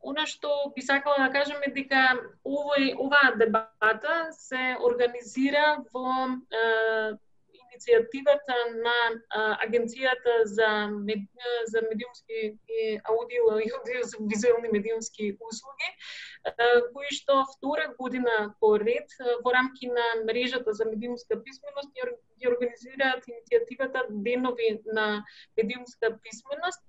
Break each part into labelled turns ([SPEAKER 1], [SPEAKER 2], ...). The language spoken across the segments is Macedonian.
[SPEAKER 1] Она што би сакала да кажем е дека оваа дебата се организира во иницијативата на Агенцијата за медиумски и аудиовизуелни медиумски услуги, кои што втора година поред во рамки на мрежата за медиумска писменост ги организираат иницијативата Денови на медиумска писменост.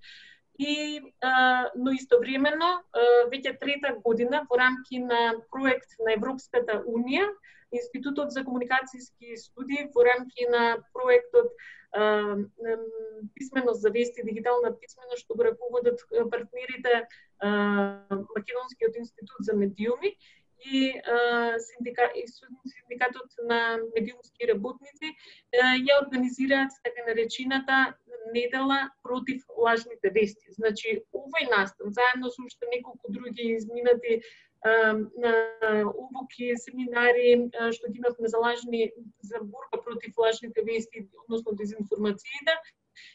[SPEAKER 1] Но истовремено, веќе трета година во рамки на проект на Европската Унија, Институтот за комуникацијски студии во рамки на проектот Писменост за вести и дигитална писменост, што го раководат партнерите Македонскиот институт за медиуми и Синдикатот на медиумски работници, ја организираат така наречената недела против лажните вести. Значи, овој настан, заедно со уште неколку други изминати обуки, семинари, што ги имавме за борба против лажните вести, односно дезинформациите,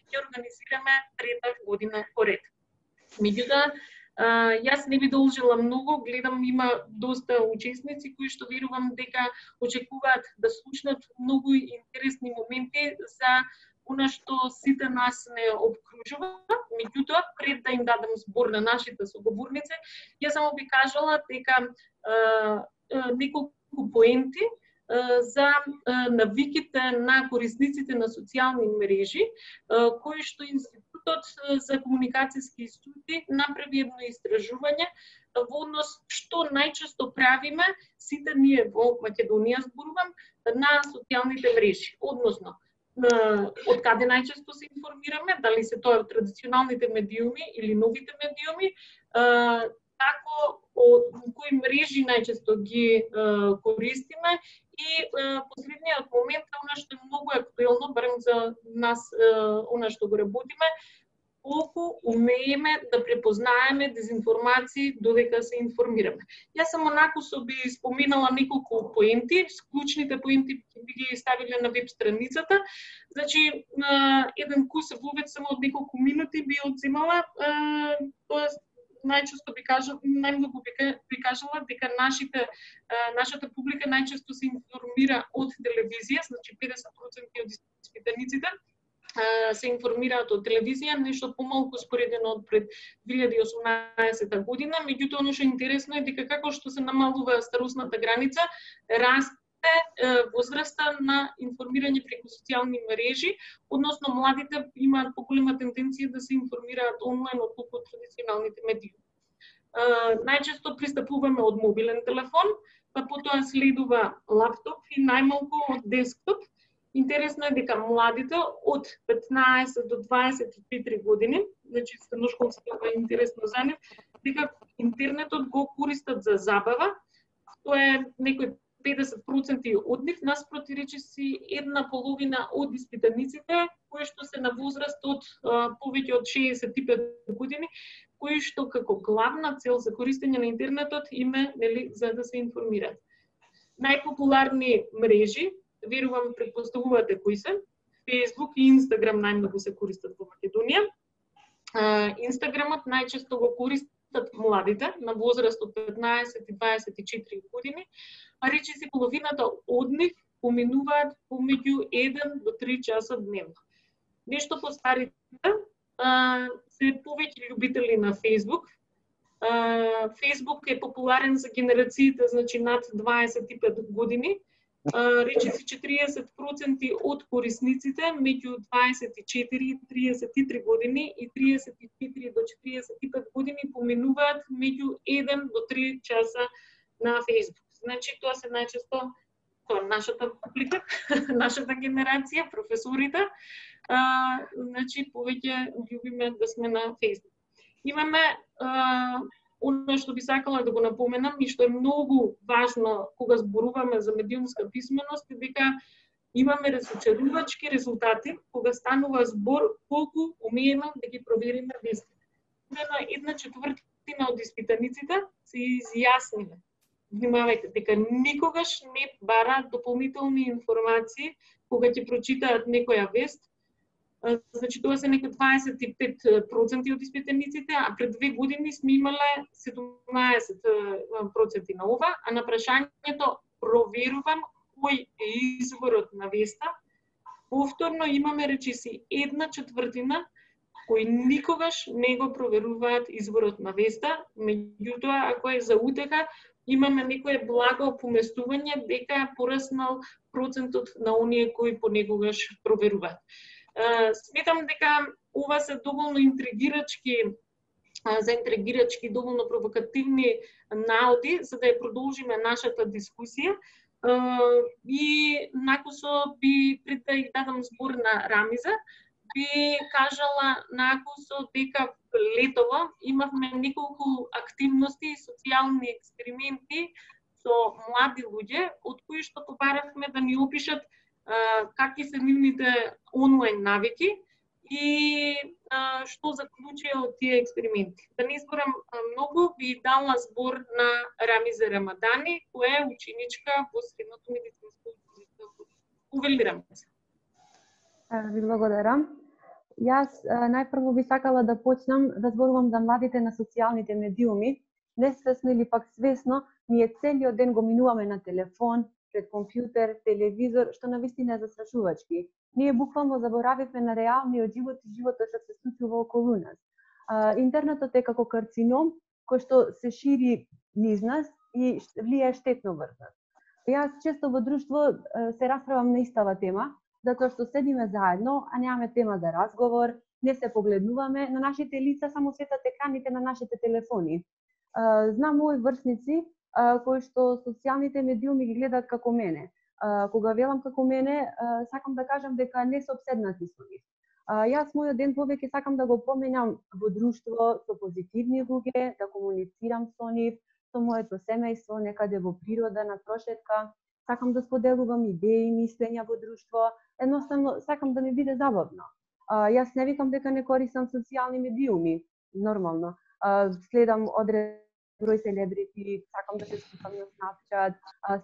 [SPEAKER 1] ќе организираме трета година поред. Меѓутоа, јас не би должила многу, гледам има доста учесници кои што верувам дека очекуваат да слушнат многу интересни моменти за она што сите нас не обкружува. Меѓутоа, пред да им дадам збор на нашите соговорници, ја само би кажала дека неколку поенти за навиките на корисниците на социјални мрежи, кои што Институтот за комуникацијски студии направи едно истражување во однос што најчесто правиме сите ние во Македонија, зборувам, на социјалните мрежи. Односно, од каде најчесто се информираме, дали се тоа традиционалните медиуми или новите медиуми, како кои мрежи најчесто ги користиме и последниот момент е она што е многу актуелно, барем за нас, она што го работиме, колку умееме да препознаеме дезинформации додека се информираме. Јас само накусо би споменала неколку поенти, клучните поенти би ги ставиле на веб страницата. Значи, еден курс вовед само од неколку минути би одземала, тоест најчесто би кажала, најмногу би кажала дека нашата публика најчесто се информира од телевизија, значи 50% од испитаниците се информираат од телевизија, нешто помалку споредено од пред 2018 година. Меѓутоа, оно што е интересно е дека како што се намалува старосната граница, расте возраста на информирање преку социјални мрежи, односно младите имаат поголема тенденција да се информираат онлайн отколку од традиционалните медиуми. Најчесто пристапуваме од мобилен телефон, па потоа следува лаптоп и најмалку од десктоп. Интересно е дека младите од 15 до 24 години, значи средношколското е интересно за нив, дека интернетот го користат за забава, тоа е некои 50% од нив, наспроти речиси една половина од испитаниците, кои што се на возраст од повеќе од 65 години, кои што како главна цел за користење на интернетот име, нели, за да се информираат. Најпопуларни мрежи, верувам предпоставувате кои се, Facebook и Instagram најмногу се користат во Македонија. Инстаграмот најчесто го користат младите на возраст од 15 и 24 години, а речиси половината од нив поминуваат помеѓу 1 до 3 часа дневно. Нешто постарите се повеќе љубители на Facebook. Facebook е популарен за генерациите, значи над 25 години. Речиси 40% од корисниците меѓу 24 и 33 години и 34 до 45 години поминуваат меѓу 1 до 3 часа на Facebook. Значи тоа се најчесто нашата публика, нашата генерација, професорите, значи повеќе љубиме да сме на Facebook. Имаме оно што би сакала да го напоменам и што е многу важно кога зборуваме за медиумска писменост е дека имаме разочарувачки резултати кога станува збор колку умееме да ги провериме вестите. Една четвртина од испитаниците се изјасниле. Внимавајте, дека никогаш не бараат дополнителни информации кога ќе прочитаат некоја вест, Значи тоа се некои 25% од испитаниците, а пред 2 години сме имале 17% на ова, а на прашањето проверувам кој е изворот на веста, повторно имаме речиси 1/4 кои никогаш не го проверуваат изворот на веста, меѓутоа ако е за утеха, имаме некое благо поместување дека е пораснал процентот на оние кои понекогаш проверуваат. Сметам дека ова се доволно интригирачки, доволно провокативни наоди за да ја продолжиме нашата дискусија. И накусо би пред да ја дадам збор на Рамиза, би кажала накусо дека летово имавме неколку активности и социјални експерименти со млади луѓе, од кои што побаравме да ни опишат какви се нивните онлайн навики и што заклучија од тие експерименти. Да не изборам многу, би дала збор на Рамиза Рамадани, која е ученичка во средното медицинско училиште. Увелирам се.
[SPEAKER 2] Ви благодарам. Јас најпрво би сакала да почнам да зборувам за младите на социјалните медиуми. Несвесно или пак свесно, ние целиот ден го минуваме на телефон, пред компјутер, телевизор, што навистина е застрашувачки. Ние буквално заборавивме на реалниот живот и животот што се случува околу нас. Интернетот е како карцином кој што се шири низ нас и влијае штетно врз нас. Јас често во друштво се расправам на истава тема, затоа што седиме заедно, а немаме тема за разговор, не се погледнуваме, на нашите лица само светат екраните на нашите телефони. Знам мои врсници кои што социјалните медиуми ги гледаат како мене. Кога велам како мене, сакам да кажам дека не се обседнати со нив. Јас мојот ден повеќе сакам да го поменам во друштво со позитивни луѓе, да комуницирам со нив, со моето семејство, некаде во природа, на прошетка. Сакам да споделувам идеи, мислења во друштво. Едноставно, сакам да ми биде забавно. Јас не викам дека не користам социјални медиуми, нормално. Следам одреден број селебрити, сакам да се сликам на Snapchat,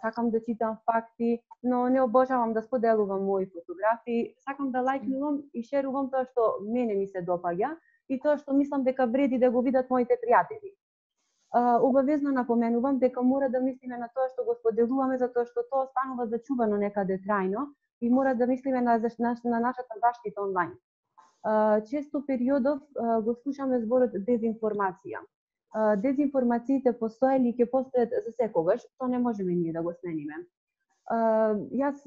[SPEAKER 2] сакам да читам факти, но не обожавам да споделувам мои фотографии, сакам да лајкнувам и шерувам тоа што мене ми се допаѓа и тоа што мислам дека вреди да го видат моите пријатели. Обавезно напоменувам дека мора да мислиме на тоа што го споделуваме, затоа што тоа останува зачувано некаде трајно и мора да мислиме на нашата заштита онлайн. Често периодов го слушаме зборот дезинформација. Дезинформациите постоеле и ќе постојат за секогаш, тоа не можеме ние да го смениме. Јас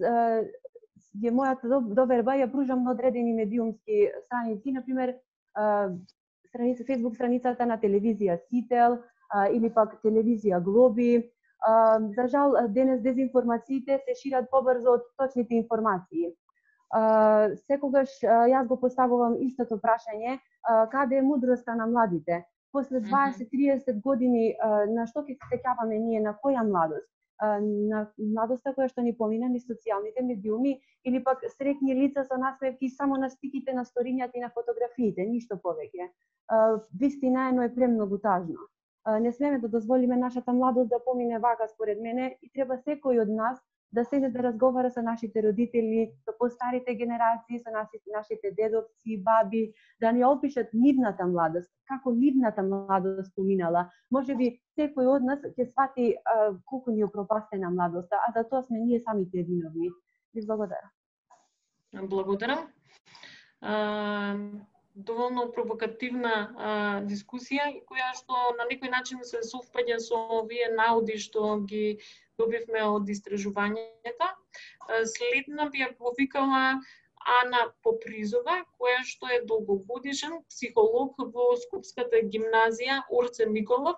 [SPEAKER 2] мојата доверба ја пружам на одредени медиумски страници, например Facebook страницата на телевизија Сител или пак телевизија Глоби. За жал, денес дезинформациите се шират побрзо од точните информации. Секогаш јас го поставувам истото прашање, каде е мудроста на младите? После 20-30 години, на што ќе се сеќаваме ние, на која младост? На младоста која што ни помина низ социјалните медиуми или пак среќни лица со насмевки само на стиките, на сторињата и на фотографиите, ништо повеќе. Вистина е, но е премногу тажно. Не смеме да дозволиме нашата младост да помине вака според мене и треба секој од нас да седне да разговара со нашите родители, со постарите генерации, со нашите дедовци, баби, да ни опишат нивната младост, како нивната младост поминала. Може би секој од нас ќе свати колку ни опропастена младоста, а за тоа сме ние самите виновни. Ви благодарам.
[SPEAKER 1] Благодарам. Доволно провокативна дискусија, која што на некој начин се совпаѓа со овие наоди што ги добивме од истражувањата. Следна би ја повикала Ана Попризова, која што е долгогодишен психолог во Скопската гимназија Орце Николов.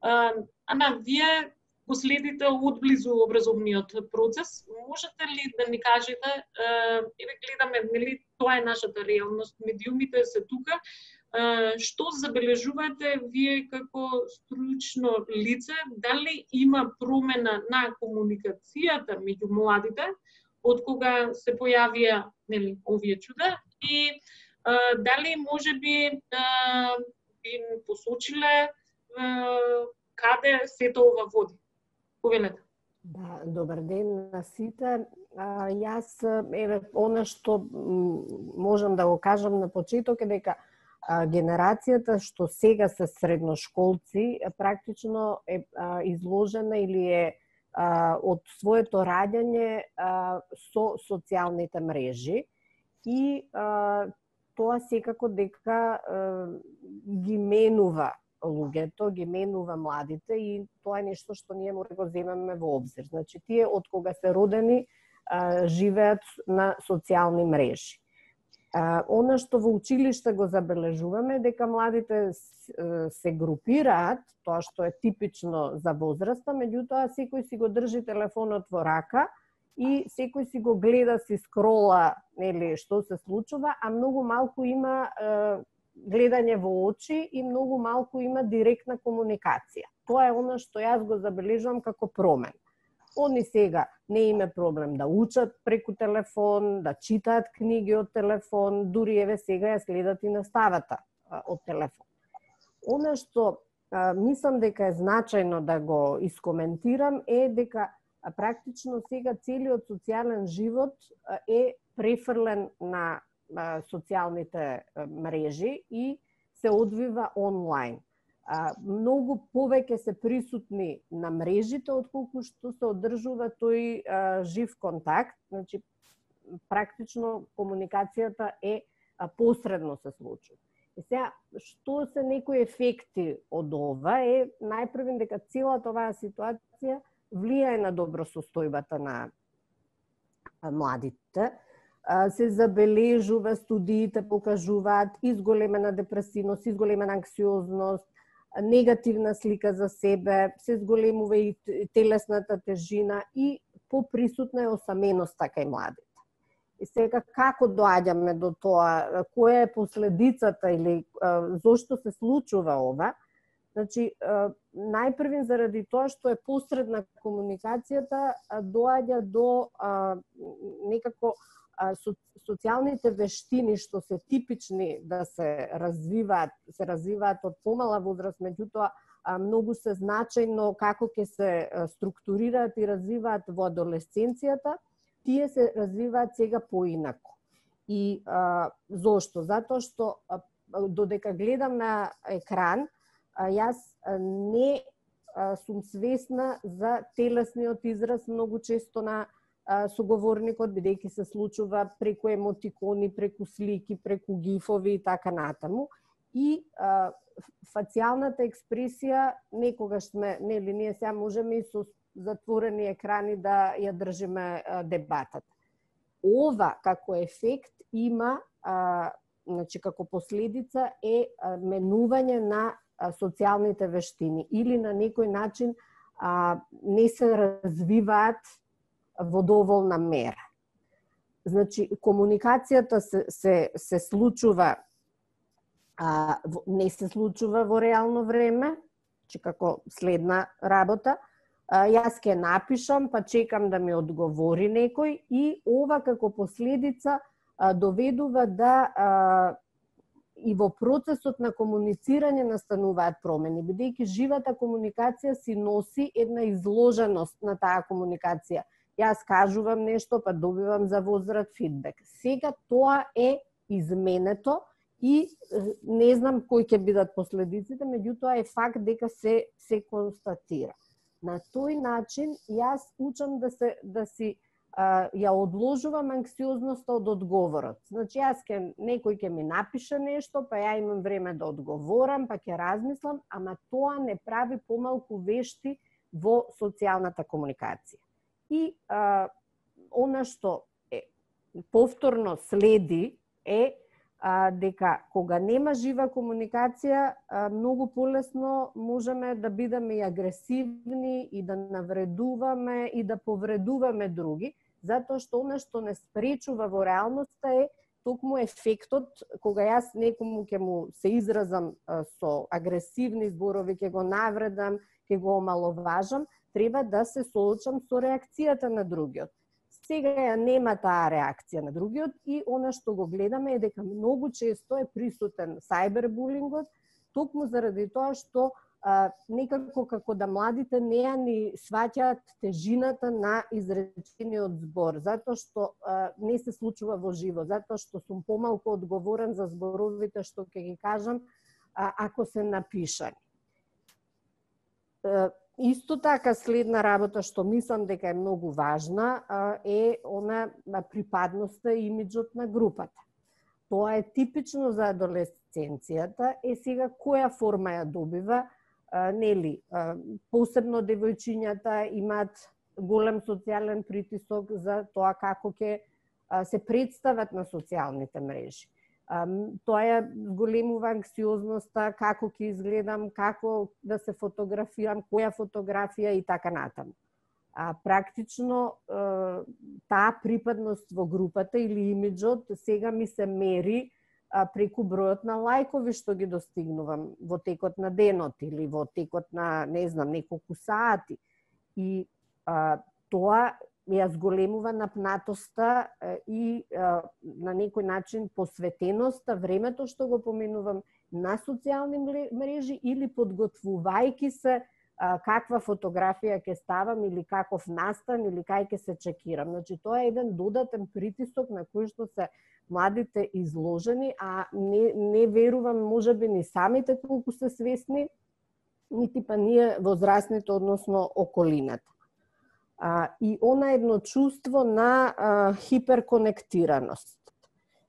[SPEAKER 1] Ана, вие последите одблизу образовниот процес. Можете ли да ни кажете, еве гледаме, нели, тоа е нашата реалност, медиумите се тука, што забележувате вие како стручно лице, дали има промена на комуникацијата меѓу младите од кога се појавија, нели, овие чуда и дали можеби би посочиле каде сето ова води? Повелете.
[SPEAKER 3] Да, добар ден на сите. Јас, она што можам да го кажам на почеток е дека генерацијата што сега се средношколци практично е изложена или е од своето раѓање со социјалните мрежи и тоа секако дека ги менува луѓето, ги менува младите и тоа е нешто што ние мора да го земеме во обзир. Значи, тие од кога се родени живеат на социјални мрежи. Она што во училиште го забележуваме дека младите се групираат, тоа што е типично за возраста, меѓутоа секој си го држи телефонот во рака и секој си го гледа, си скрола, нели, што се случува, а многу малку има гледање во очи и многу малку има директна комуникација. Тоа е она што јас го забележувам како промен. Они сега не име проблем да учат преку телефон, да читаат книги од телефон, дури еве сега ја следат и наставата од телефон. Она што мислам дека е значајно да го искоментирам е дека практично сега целиот социјален живот е префрлен на социјалните мрежи и се одвива онлайн. Многу повеќе се присутни на мрежите отколку што се одржува тој жив контакт, значи практично комуникацијата е посредно се случува. И сега, што се некои ефекти од ова е најпрвен дека целата оваа ситуација влијае на добросостојбата на младите. Се забележува, студиите покажуваат изголемена депресивност, изголемена анксиозност, негативна слика за себе, се зголемува и телесната тежина и поприсутна е осаменоста кај младите. И сега како доаѓаме до тоа, која е последицата или зошто се случува ова? Значи, најпрвен заради тоа што е посредна комуникацијата доаѓа до некако социјалните вештини што се типични да се развиваат од помала возраст, меѓутоа многу се значајно како ќе се структурираат и развиваат во адолесценцијата, тие се развиваат сега поинако. И зошто? Затоа што додека гледам на екран, јас не сум свесна за телесниот израз многу често на соговорникот, бидејќи се случува преку емотикони, преку слики, преку гифови и така натаму. И фацијалната експресија некогаш сме, нели, ние сега можеме и со затворени екрани да ја држиме дебатата. Ова како ефект има, значи како последица е менување на социјалните вештини или на некој начин не се развиваат во доволна мера. Значи, комуникацијата се случува, не се случува во реално време, че како следна работа. Јас ќе напишам, па чекам да ми одговори некој и ова како последица доведува да и во процесот на комуницирање настануваат промени, бидејќи живата комуникација си носи една изложеност на таа комуникација. Јас кажувам нешто, па добивам за возврат фидбек. Сега тоа е изменето и не знам кои ќе бидат последиците, меѓутоа е факт дека се констатира. На тој начин јас учам да си ја одложувам анксиозноста од одговорот. Значи некој ќе ми напише нешто, па ја имам време да одговорам, па ќе размислам, ама тоа не прави помалку вешти во социјалната комуникација. И она што повторно следи е дека кога нема жива комуникација, многу полесно можеме да бидеме и агресивни и да навредуваме и да повредуваме други, затоа што она што не спречува во реалноста е токму ефектот кога јас некому ќе му се изразам со агресивни зборови, ќе го навредам, ќе го омаловажам, треба да се соочам со реакцијата на другиот. Сега ја нема таа реакција на другиот и она што го гледаме е дека многу често е присутен сајбербулингот, токму заради тоа што некако како да младите не ја ни сваќаат тежината на изречениот збор, затоа што не се случува во живо, затоа што сум помалку одговорен за зборовите што ќе ги кажам ако се напишани. Исто така следна работа што мислам дека е многу важна е она припадноста и имиджот на групата. Тоа е типично за адолесценцијата, сега која форма ја добива, нели, посебно девојчињата имаат голем социјален притисок за тоа како ќе се представат на социјалните мрежи. Тоа ја големува анксиозноста, како ќе изгледам, како да се фотографирам, која фотографија и така натаму. Практично таа припадност во групата или имиджот сега ми се мери преку бројот на лајкови што ги достигнувам во текот на денот или во текот на, не знам, неколку сати. И тоа ја зголемува напнатоста и на некој начин посветеноста, времето што го поменувам на социјални мрежи или подготвувајќи се каква фотографија ќе ставам или каков настан или кај ќе се чекирам. Значи, тоа е еден додатен притисок на кој што се младите изложени, а не верувам можеби ни самите колку се свесни, нити па ние возрастните, односно околината. И она едно чувство на хиперконектираност.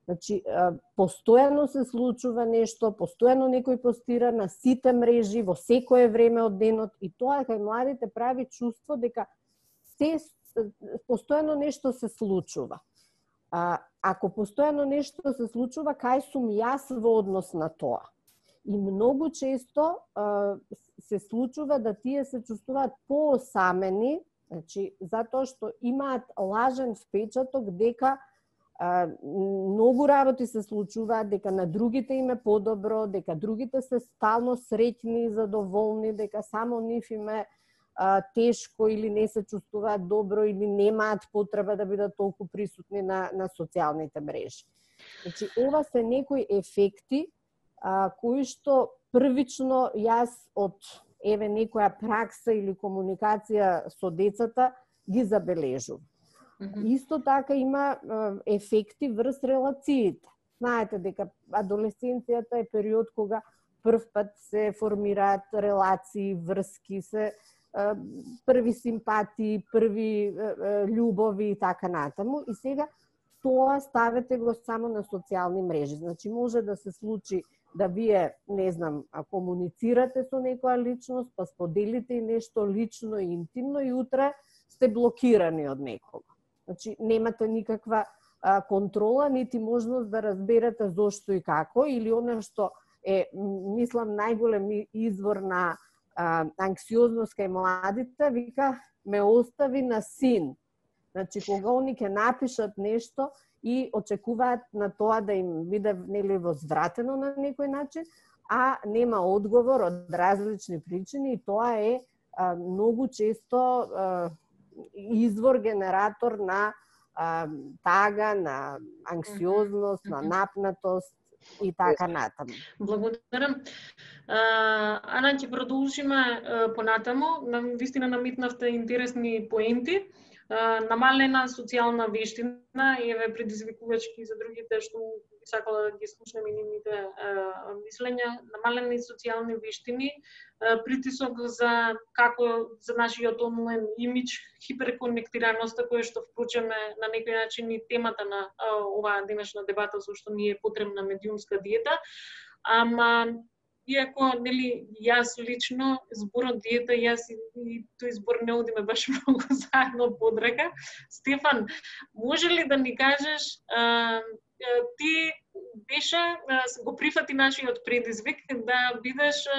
[SPEAKER 3] Значи, постојано се случува нешто, постојано некој постира на сите мрежи во секое време од денот и тоа кај младите прави чувство дека постојано нешто се случува. Ако постојано нешто се случува, кај сум јас во однос на тоа? И многу често се случува да тие се чувствуваат поосамени, значи, затоа што имаат лажен впечаток дека многу работи се случуваат, дека на другите им е подобро, дека другите се стално среќни и задоволни, дека само нив им е тешко или не се чувствуваат добро или немаат потреба да бидат толку присутни на социјалните мрежи. Значи, ова се некои ефекти кои што првично јас од некоја пракса или комуникација со децата ги забележувам. Исто така има ефекти врз релациите. Знаете дека адолесценцијата е период кога прв пат се формираат релации, врски, се први симпатии, први љубови и така натаму. И сега тоа ставете го само на социјални мрежи. Значи може да се случи да вие, не знам, комуницирате со некоја личност, па споделите и нешто лично и интимно и утре сте блокирани од некого. Значи, немате никаква контрола, нити можност да разберете зошто и како, или оно што е, мислам, најголем извор на анксиозност кај младите, вика, ме остави на син. Значи, кога они ќе напишат нешто и очекуваат на тоа да им биде нели возвратено на некој начин, а нема одговор од различни причини, и тоа е многу често извор, генератор на тага, на анксиозност, на напнатост и така натаму.
[SPEAKER 1] Благодарам. Ана, ќе продолжиме понатаму. Вистина намитнавте интересни поенти. Намалена социјална вештина и еве предизвикувачки за другите што би сакала да ги слушнеме и нивните мислења. Намалени социјални вештини, притисок за нашиот онлайн имидж, хиперконектираноста која што впрочем е на некој начин и темата на оваа денешна дебата со што ни е потребна медиумска диета. Ама иако, нели, јас лично, зборот диета, јас и тој збор не одиме баш многу заедно подрека. Стефан, може ли да ни кажеш, ти беше, го прифати нашиот предизвик да бидеш,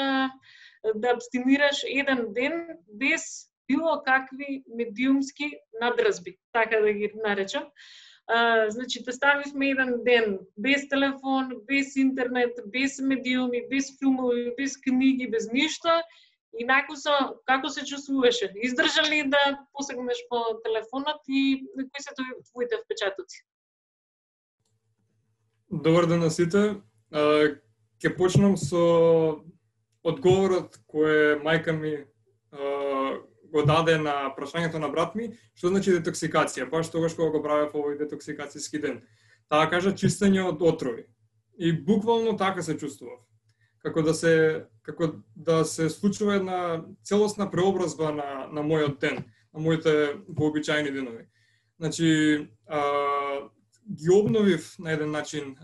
[SPEAKER 1] да абстинираш еден ден без било какви медиумски надразби, така да ги наречам. Значи, те ставивме еден ден без телефон, без интернет, без медиуми, без филмови, без книги, без ништо. И како се чувствуваше? Издржа ли да посегнеш по телефонот и кои се твоите впечатоци?
[SPEAKER 4] Добар ден на сите. Ќе почнам со одговорот кој мајка ми го даде на прашањето на брат ми, што значи детоксикација, баш тогаш кога го правев овој детоксикацијски ден. Таа кажа чистење од отрови. И буквално така се чувствував. Како да се случува една целосна преобразба на мојот ден, на моите вообичаени денови. Значи, ги обновив на еден начин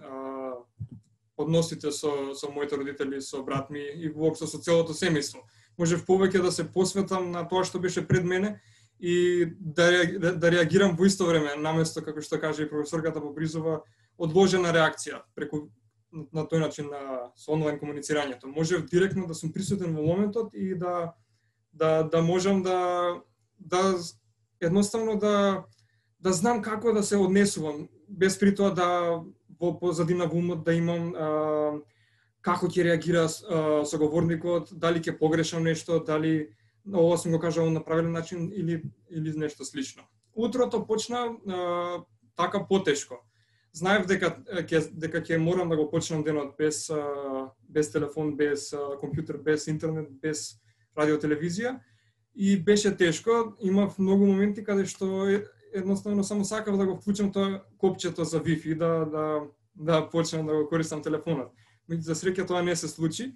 [SPEAKER 4] односите со моите родители, со брат ми и воопшто со целото семејство. Можев повеќе да се посветам на тоа што беше пред мене и да реагирам во исто време, наместо, како што каже и професорката Бобризова, одложена реакција преку на тој начин со онлайн комуницирањето. Можев директно да сум присутен во моментот и да можам да едноставно да знам како да се однесувам, без при тоа да во позадина во умот да имам како ќе реагира соговорникот, дали ќе погрешам нешто, дали ова сум го кажал на правилен начин или нешто слично. Утрото почна така потешко. Знаев дека ќе морам да го почнам денот без телефон, без компјутер, без интернет, без радио, телевизија и беше тешко. Имав многу моменти каде што едноставно само сакав да го вклучам тоа копчето за Wi-Fi да почнам да го користам телефонот. За среќа тоа не се случи.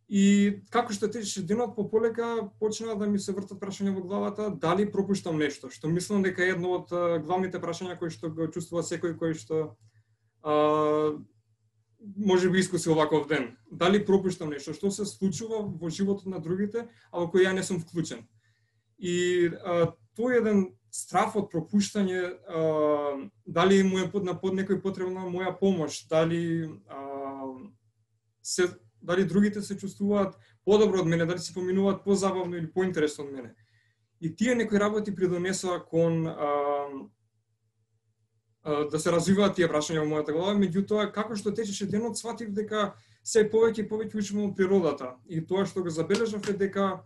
[SPEAKER 4] И како што течеше денот, пополека почна да ми се вртат прашања во главата, дали пропуштам нешто, што мислам дека е едно од главните прашања кои што го чувствува секој кој што може би искуси оваков ден. Дали пропуштам нешто, што се случува во животот на другите, а во кој ја не сум вклучен. И тој еден страф од пропуштање, дали му е под некој потребна моја помош, дали другите се чувствуваат подобро од мене, дали се поминуваат позабавно или поинтересно од мене. И тие некои работи придонесоа кон да се развиваат тие прашања во мојата глава, меѓутоа како што течеше денот сватив дека се повеќе и повеќе учам од природата. И тоа што го забележав е дека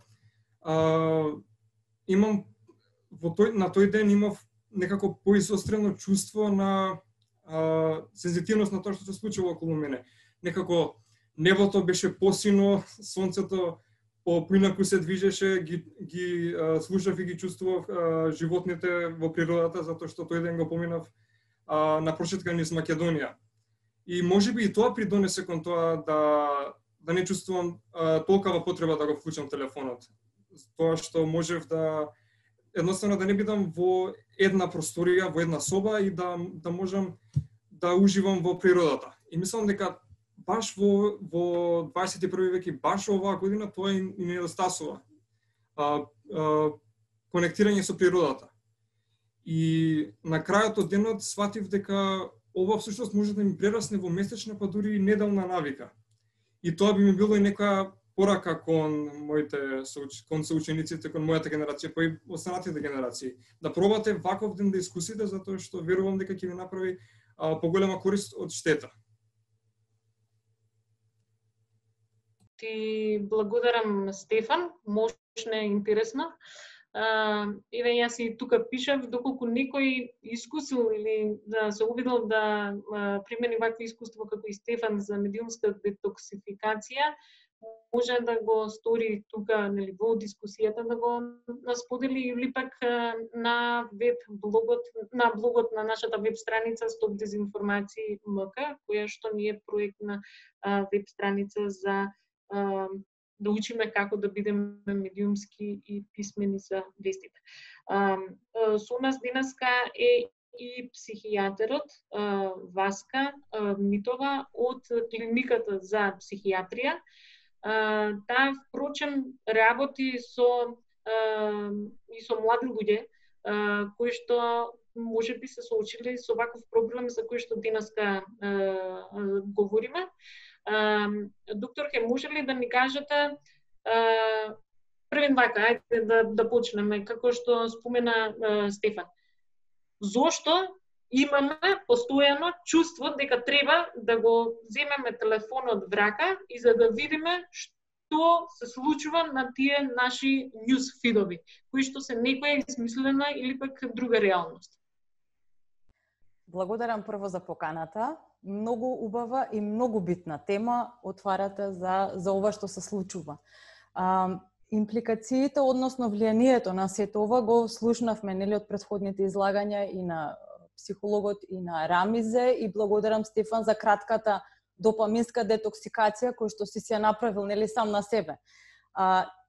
[SPEAKER 4] имам на тој ден имав некако поизострено чувство на сензитивност на тоа што се случува околу мене. Некако небото беше посино, сонцето поинаку се движеше, ги слушав и ги чувствував животните во природата, затоа што тој ден го поминав на прошетка низ Македонија. И можеби и тоа придонесе кон тоа да не чувствувам толкова потреба да го вклучам телефонот. Тоа што можев едноставно да не бидам во една просторија, во една соба и да можам да уживам во природата. И мислам дека баш во 21 век и баш оваа година тоа и недостасува. Конектирање со природата. И на крајот од денот сватив дека ова всушност може да ми прерасне во месечна, па дури и неделна навика. И тоа би ми било и нека порака кон соучениците, кон мојата генерација, па и останатите генерации. Да пробате ваков ден да искусите, затоа што верувам дека ќе ви направи поголема корист од штета.
[SPEAKER 1] Ти благодарам, Стефан, мощно е интересно. Еве јас и тука пишав, доколку некој искусил или да се обидел да примени вакви искуство како и Стефан за медиумска детоксификација, може да го стори тука, нели, во дискусијата да го сподели или пак на блогот на нашата веб страница Стоп дезинформации МК, која што ни е проектна веб страница за да учиме како да бидеме медиумски и писмени за вестите. Со нас денеска е и психијатерот Васка Митова од клиниката за психијатрија. Таа впрочем работи со млади луѓе кои што можеби се соочиле со ваков проблем за кој што денеска говориме. Докторке, може ли да ни кажете првен вака, ајде да почнеме, како што спомена Стефан. Зошто имаме постојано чувство дека треба да го земеме телефонот в рака и за да видиме што се случува на тие наши ньюс фидови, кои што се некоја измислена или пак друга реалност?
[SPEAKER 5] Благодарам прво за поканата. Многу убава и многу битна тема отварате за ова што се случува. Импликациите, односно влијанието на сето ова го слушнавме нели од претходните излагања и на психологот и на Рамизе, и благодарам Стефан за кратката допаминска детоксикација која што си ја направил нели сам на себе.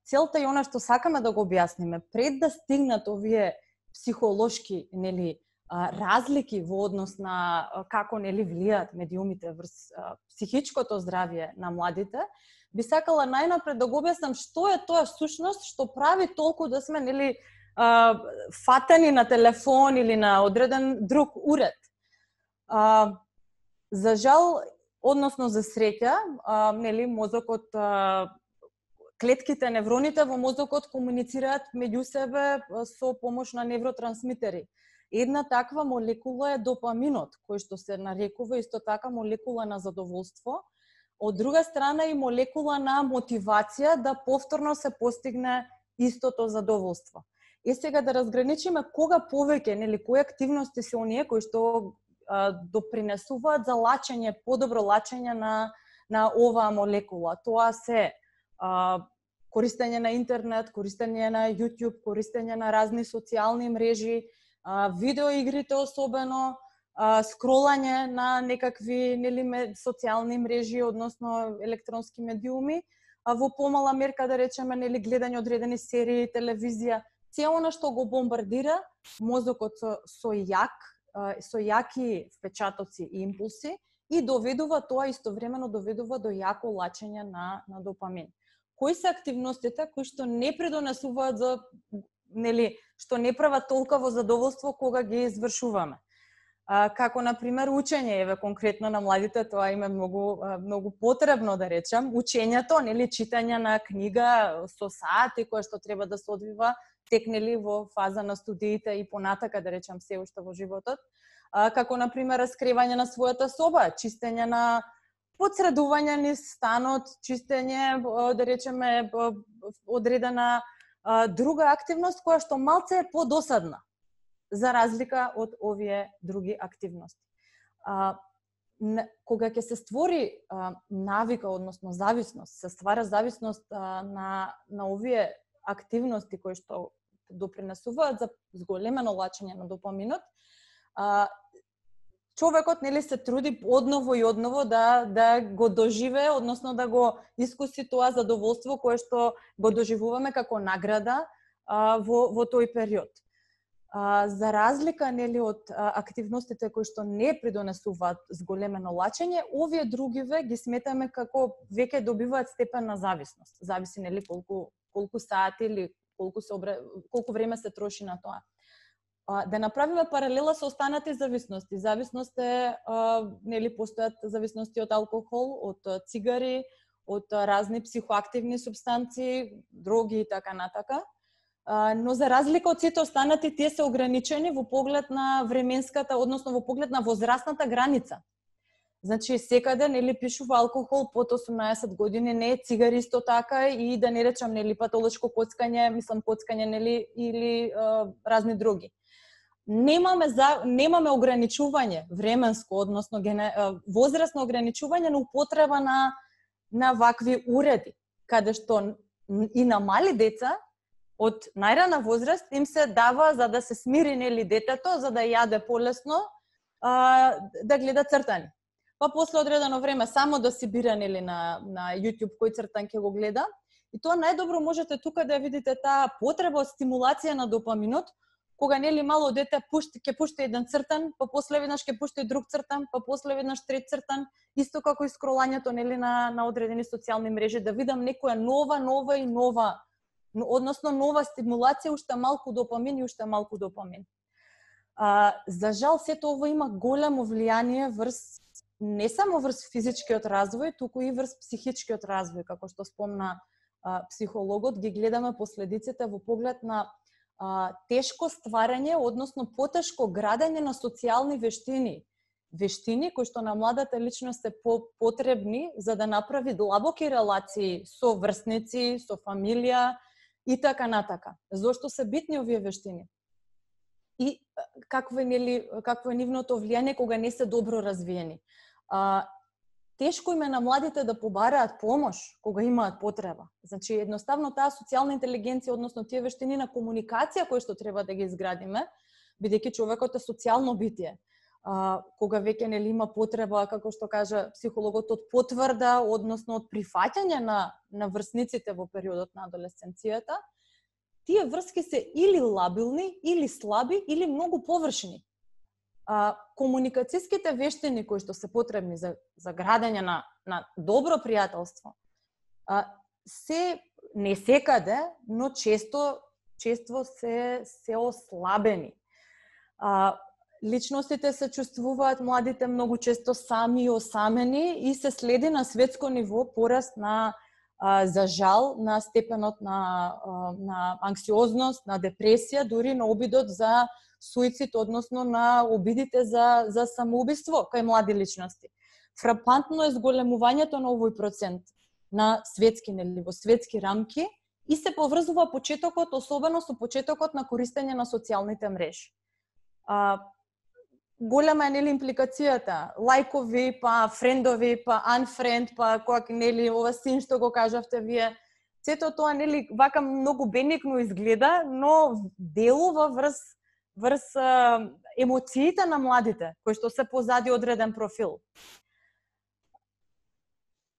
[SPEAKER 5] Целта и она што сакаме да го објасниме, пред да стигнат овие психолошки нели разлики во однос на како нели влијаат медиумите врз психичкото здравје на младите, би сакала најнапред да го објаснам што е тоа сушност што прави толку да сме нели фатени на телефон или на одреден друг уред. За жал, односно за среќа, нели мозокот, клетките, невроните во мозокот комуницираат меѓу себе со помош на невротрансмитери. Една таква молекула е допаминот, кој што се нарекува исто така молекула на задоволство. Од друга страна и молекула на мотивација да повторно се постигне истото задоволство. И сега да разграничиме кога повеќе, нели кои активности се оние кои што допринесуваат за лачење, подобро лачење на оваа молекула. Тоа се користење на интернет, користење на YouTube, користење на разни социјални мрежи, видеоигрите особено, скролање на некакви нели социјални мрежи, односно електронски медиуми, во помала мерка да речеме нели гледање одредени серии, телевизија, цело она што го бомбардира мозокот со јаки впечатоци и импулси и доведува тоа истовремено доведува до јако лачење на допамин. Кои се активностите кои што не придонесуваат за нели што не прават толково задоволство кога ги извршуваме? Како на пример учење, еве конкретно на младите тоа им е многу потребно да речам, учењето, нели читање на книга со сати која што треба да се одвива тек нели во фаза на студиите и понатака да речам се уште во животот, како на пример раскривање на својата соба, чистење на подсредување низ станот, чистење да речеме одредена друга активност која што малце е подосадна за разлика од овие други активности. Кога ќе се створи навика, односно зависност, се ствара зависност на овие активности кои што допринесуваат за зголемено лачење на допаминот, човекот нели се труди одново и одново да го доживее, односно да го искуси тоа задоволство кое што го доживуваме како награда во тој период. За разлика нели од активностите кои што не придонесуваат зголемено лачење, овие другиве ги сметаме како веќе добиваат степен на зависност. Зависи нели колку сати или колку време се троши на тоа. Да направиме паралела со останати зависности. Зависност е нели постојат зависности од алкохол, од цигари, од разни психоактивни супстанции, дроги и така натака. Но за разлика од сите останати, тие се ограничени во поглед на временската, односно во поглед на возрастната граница. Значи, секаде нели пишува алкохол под 18 години, не цигари исто така и да не речам нели патолошко коцкање, коцкање нели или разни други. Немаме ограничување временско, односно возрастно ограничување на употреба на вакви уреди, каде што и на мали деца од најрана возраст им се дава за да се смири нели детето, за да јаде полесно, да гледа цртани. Па после одредено време само да си бира нели на YouTube кој цртан ќе го гледа. И тоа најдобро можете тука да видите таа потреба од стимулација на допаминот, кога нели мало дете ќе пушти еден цртан, па после веднаш ќе пушти друг цртан, па после веднаш трет цртан, исто како и скролањето нели на одредени социјални мрежи, да видам некоја нова, односно нова стимулација, уште малку допамин и уште малку допамин. За жал, сето ова има големо влијание врз не само врз физичкиот развој, туку и врз психичкиот развој, како што спомна психологот, ги гледаме последиците во поглед на тешко стварање, односно потешко градење на социјални вештини. Вештини кои што на младата личност се потребни за да направи длабоки релации со врсници, со фамилија и така натака. Зошто се битни овие вештини? и какво е нивното влијание кога не се добро развиени. Тешко им е на младите да побараат помош кога имаат потреба. Значи, едноставно таа социјална интелигенција, односно тие вештини на комуникација кои што треба да ги изградиме, бидејќи човекот е социјално битие. Кога веќе нели има потреба, како што кажа психологот, од потврда, односно од прифаќање на врсниците во периодот на адолесценцијата, тие врски се или лабилни, или слаби, или многу површни. Комуникацијските вештини кои што се потребни за градење на добро пријателство се не секаде, но често се ослабени. Личностите се чувствуваат младите многу често сами и осамени и се следи на светско ниво пораст на за жал на степенот на анксиозност, на депресија, дури на обидот за суицид, односно на обидите за самоубиство кај млади личности. Фрапантно е зголемувањето на овој процент на светски, нели, во светски рамки и се поврзува почетокот, особено со почетокот на користење на социјалните мрежи. Голема е нели импликацијата, лајкови, па френдови, па unfriend, па кој нели ова син што го кажавте вие. Сето тоа нели вака многу бенигно изгледа, но делува врз емоциите на младите кои што се позади одреден профил.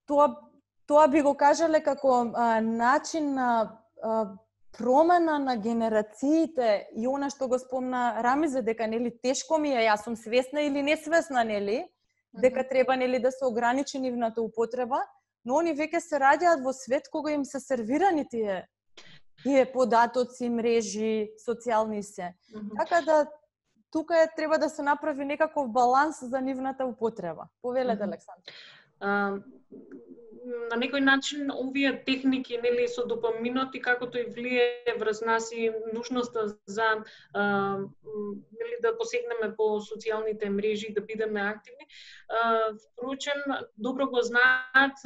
[SPEAKER 5] Тоа би го кажале како начин на промена на генерациите и она што го спомна Рамизе, дека нели тешко ми е, јас сум свесна или несвесна, нели, дека треба нели да се ограничи нивната употреба, но они веќе се раѓаат во свет кога им се сервирани тие податоци, мрежи, социјални се. Така да тука треба да се направи некаков баланс за нивната употреба. Повелете, Александра.
[SPEAKER 1] На некој начин овие техники нели со допаминот и како тој влие врз нас и нужноста за нели да посегнеме по социјалните мрежи и да бидеме активни. Впрочем, добро го знаат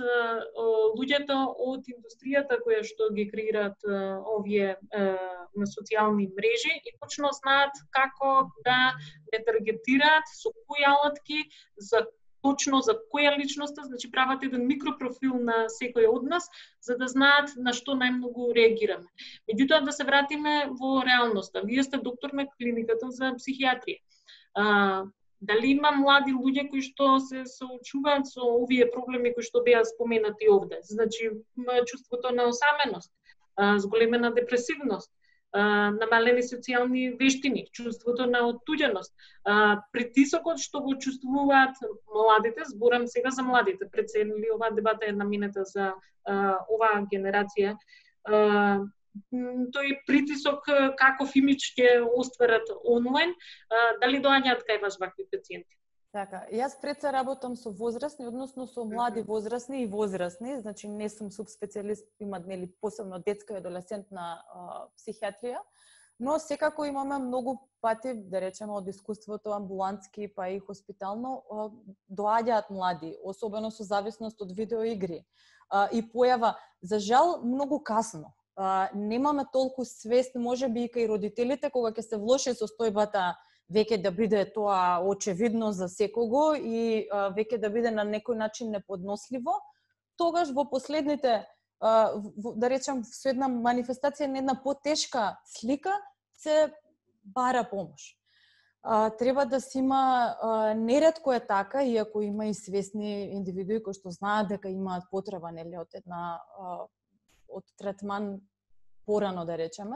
[SPEAKER 1] луѓето од индустријата која што ги креираат овие социјални мрежи и точно знаат како да не таргетираат со кои алатки точно за која личноста, значи прават еден микропрофил на секој од нас, за да знаат на што најмногу реагираме. Меѓутоа да се вратиме во реалноста. Вие сте доктор на клиниката за психијатрија. Дали има млади луѓе кои што се соочуваат со овие проблеми кои што беа споменати овде? Значи чувството на осаменост, зголемена депресивност, намалени социјални вештини, чувството на оттуѓеност, притисокот што го чувствуваат младите, зборам сега за младите, пред се оваа дебата е наменета за оваа генерација, тој притисок каков имидж ќе остварат онлайн, дали доаѓаат кај вас вакви пациенти?
[SPEAKER 5] Така, јас пред се работам со возрастни, односно со млади возрастни и возрастни, значи не сум субспецијалист, имат нели посебно детска и адолесцентна психијатрија, но секако имаме многу пати, да речеме од искуството амбулантски па и хоспитално, доаѓаат млади, особено со зависност од видеоигри и појава, за жал, многу касно. Немаме толку свест, можеби и кај родителите, кога ќе се влоши состојбата веќе да биде тоа очевидно за секого и веќе да биде на некој начин неподносливо, тогаш во последните, да речем, со една манифестација на една потешка слика, се бара помош. Треба да се има, неретко е така, иако има и свесни индивидуи кои што знаат дека имаат потреба нели од третман порано, да речеме,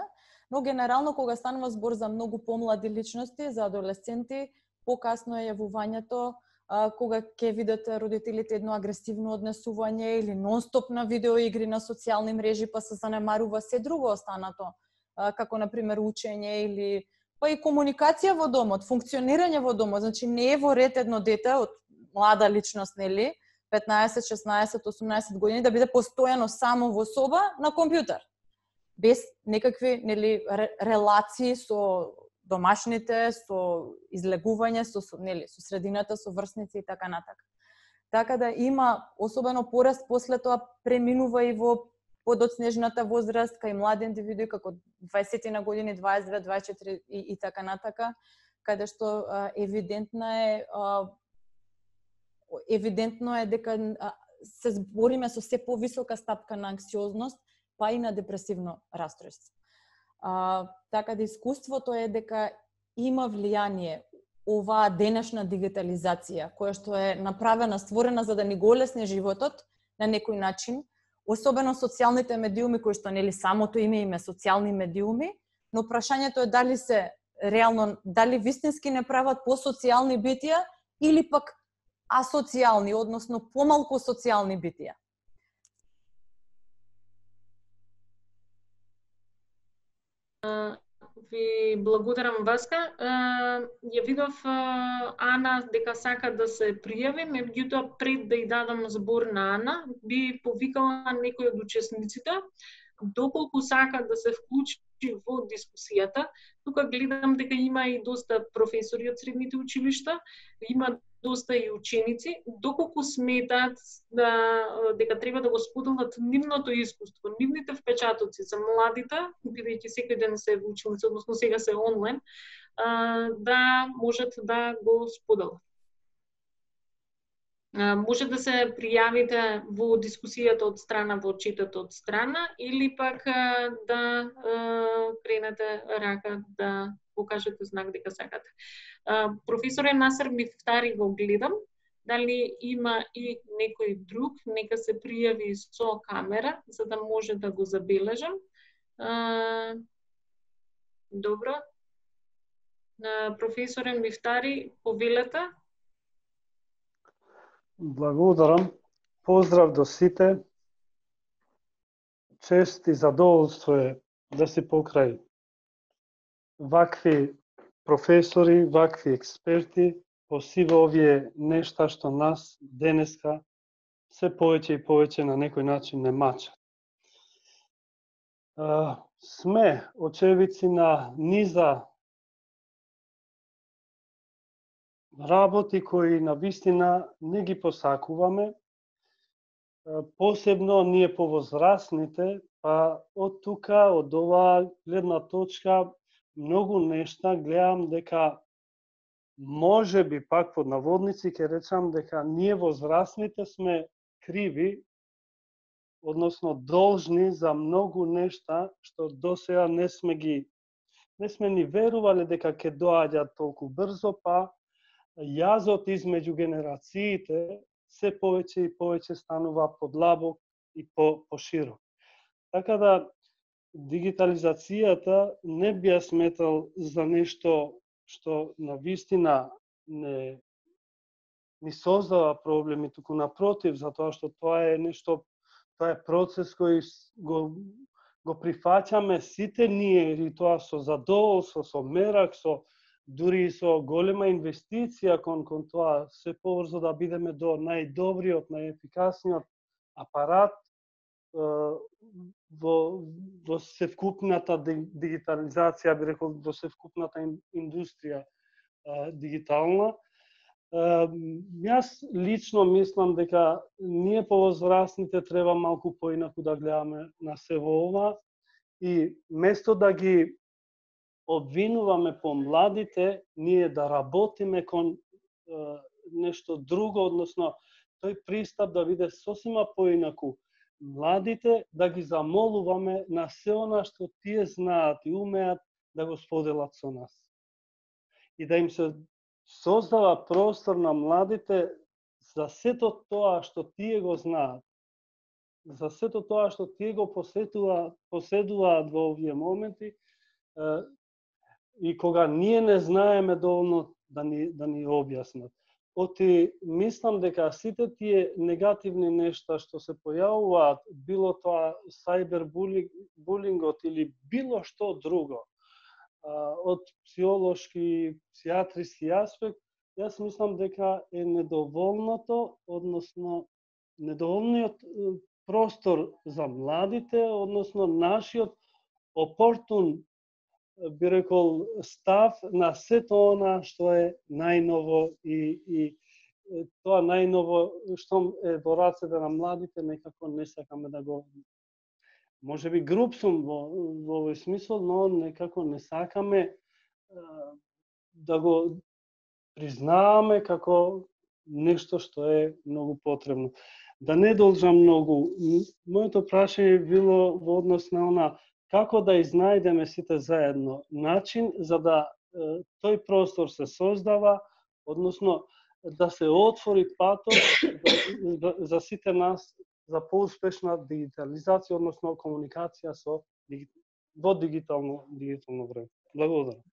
[SPEAKER 5] но генерално кога станува збор за многу помлади личности, за адолесценти, покасно е јавувањето, кога ќе видат родителите едно агресивно однесување или нонстоп на видеоигри на социјални мрежи, па се занемарува се друго останато, како на пример учење или па и комуникација во домот, функционирање во домот, значи не е во ред едно дете од млада личност, нели, 15, 16, 18 години да биде постојано само во соба на компјутер, без некакви нели релации со домашните, со излегување, со средината, со врсници и така натака. Така да има особено пораст после тоа преминува и во подоцнежната возраст, кај млади индивидуи како 20 на години, 22, 24 и така натака, каде што евидентно е дека се збориме со се повисока стапка на анксиозност, па и на депресивно расстройство. Така да искуството е дека има влијание оваа денешна дигитализација, која што е направена, створена за да ни го олесни животот на некој начин, особено социјалните медиуми, кои што нели самото име им е социјални медиуми, но прашањето е дали се реално, дали вистински не прават посоцијални битија или пак асоцијални, односно помалку социјални битија.
[SPEAKER 1] Ви благодарам, Васка. Ја видов Ана дека сака да се пријави, меѓутоа пред да ја дадам збор на Ана, би повикала некој од учесниците, доколку сака да се вклучи во дискусијата. Тука гледам дека има и доста професори од средните училишта, има доста и ученици, доколку сметаат дека треба да го споделат нивното искуство, нивните впечатоци за младите, бидејќи секој ден се ученици, односно сега се онлайн, да можат да го споделат. Може да се пријавите во дискусијата од страна, во четот од страна, или пак да кренете рака, да покажете знак дека сакате. Професоре Насер Мифтари го гледам. Дали има и некој друг, нека се пријави со камера, за да може да го забележам. Добро. Професоре Мифтари, повелете.
[SPEAKER 6] Благодарам. Поздрав до сите. Чест и задоволство е да си покрај вакви професори, вакви експерти, посиво овие нешта што нас денеска се повеќе и повеќе на некој начин не мачат. Сме очевидци на низа работи кои на вистина не ги посакуваме, посебно ние повозрасните, па од тука, од оваа гледна точка, многу нешта гледам дека може би пак под наводници ќе речам дека ние возрастните сме криви, односно должни за многу нешта што досега не сме ни верувале дека ќе доаѓаат толку брзо, па јазот измеѓу генерациите се повеќе и повеќе станува подлабок и поширок. Така да дигитализацијата не би ја сметал за нешто што на вистина ни создава проблеми, туку напротив, затоа што тоа е нешто, тоа е процес кој го прифаќаме сите ние, и тоа со задоволство, со мерак, дури и со голема инвестиција кон тоа се побрзо да бидеме до најдобриот, најефикасниот апарат во севкупната дигитализација, би рекол, во севкупната индустрија дигитална. Јас лично мислам дека ние повозрастните треба малку поинаку да гледаме на се во ова и место да ги обвинуваме по младите, ние да работиме кон нешто друго, односно тој пристап да биде сосема поинаку. Младите да ги замолуваме на се она што тие знаат и умеат да го споделат со нас. И да им се создава простор на младите за сето тоа што тие го знаат, за сето тоа што тие го поседуваат во овие моменти, и кога ние не знаеме доволно да ни објаснат. Оти мислам дека сите тие негативни нешта што се појавуваат, било тоа сајбербулингот или било што друго, од психолошки, псијатриски аспект, јас мислам дека е недоволното, односно недоволниот простор за младите, односно нашиот опортун, би рекол, став на сето она што е најново и тоа најново што е во рацете на младите, некако не сакаме да го можеби груб сум во овој смисол, но некако не сакаме да го признаваме како нешто што е многу потребно. Да не должам многу. Моето прашање било во однос на она како да изнајдеме сите заедно начин за да тој простор се создава, односно да се отвори патот за сите нас за поуспешна дигитализација, односно комуникација во дигитално време. Благодарам.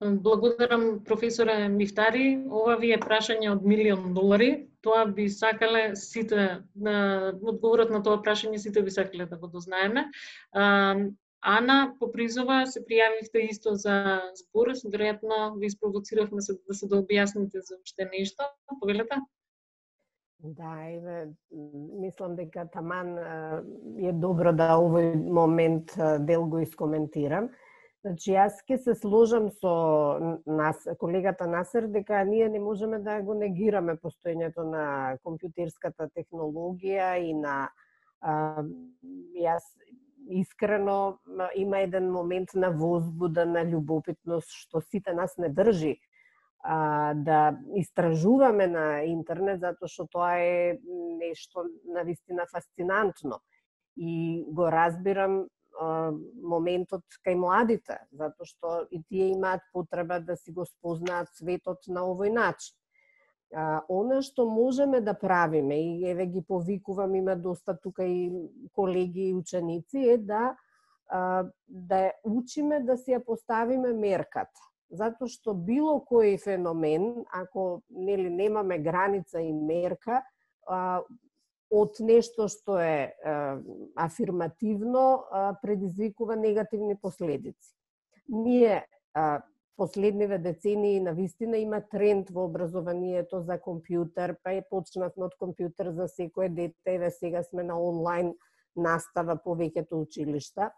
[SPEAKER 1] Благодарам, професоре Мифтари. Ова ви е прашање од $1.000.000. Тоа би сакале сите, одговорот на тоа прашање сите би сакале да го дознаеме. Ана Попризова, се пријавивте исто за збор, веројатно ви спровоциравме да се дообјасните за уште нешто. Повелете?
[SPEAKER 3] Да, мислам дека таман е добро да овој момент дел го искоментирам. Значи, јас ќе се сложам со колегата Насер дека ние не можеме да го негираме постоењето на компјутерската технологија и на јас искрено има еден момент на возбуда, на љубопитност што сите нас не држи да истражуваме на интернет, затоа што тоа е нешто навистина фасцинантно. И го разбирам моментот кај младите, затоа што и тие имаат потреба да си го спознаат светот на овој начин. Она што можеме да правиме, и еве ги повикувам, има доста тука и колеги и ученици, е да учиме да си ја поставиме мерката. Затоа што било кој феномен, ако немаме граница и мерка, од нешто што е афирмативно, предизвикува негативни последици. Ние последниве децении навистина има тренд во образованието за компјутер, па почнавме од компјутер за секое дете, еве сега сме на онлайн настава повеќето училишта.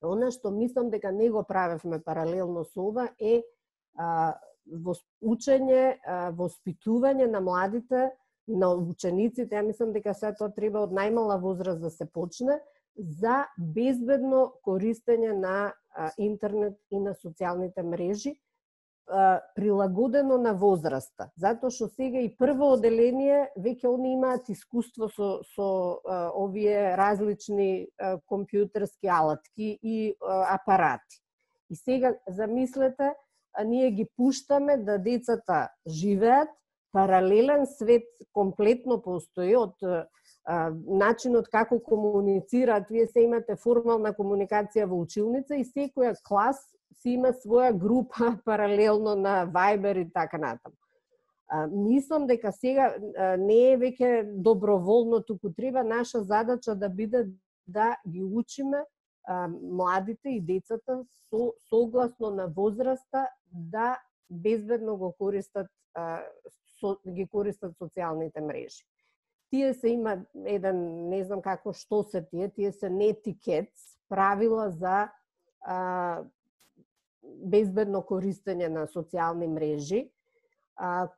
[SPEAKER 3] Она што мислам дека не го правевме паралелно со ова е учење, воспитување на младите, на учениците. Ја мислам дека се тоа треба од најмала возраст да се почне за безбедно користење на интернет и на социјалните мрежи, прилагодено на возраста. Затоа што сега и прво оделение веќе они имаат искуство со овие различни компјутерски алатки и апарати. И сега замислете, ние ги пуштаме да децата живеат, паралелен свет комплетно постои од начинот како комуницираат. Вие се имате формална комуникација во училница и секоја клас си има своја група паралелно на Viber и така натаму. Мислам дека сега не е веќе доброволно, туку треба наша задача да биде да ги учиме младите и децата согласно на возраста да безбедно го користат социјалните мрежи. Тие се има еден, не знам како што се тие се нетикетс, правила за безбедно користење на социјални мрежи,